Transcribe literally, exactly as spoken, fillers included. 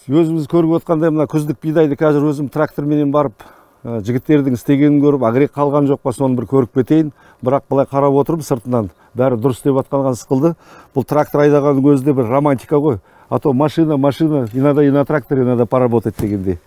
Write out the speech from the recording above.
Өзүңүз көрүп аткандай мына күздүк бидайды азыр өзүм трактор менен барып жигиттердин истегенин көрүп, агрек калган жокпа сону бир көрүп кетейин. Бирок былай карап отуруп сыртынан баары дурус деп атканга сыкылды. Бул трактор айдаганын өзү да бир романтика го. А то машина, машина, иногда и на тракторе надо поработать дегендей.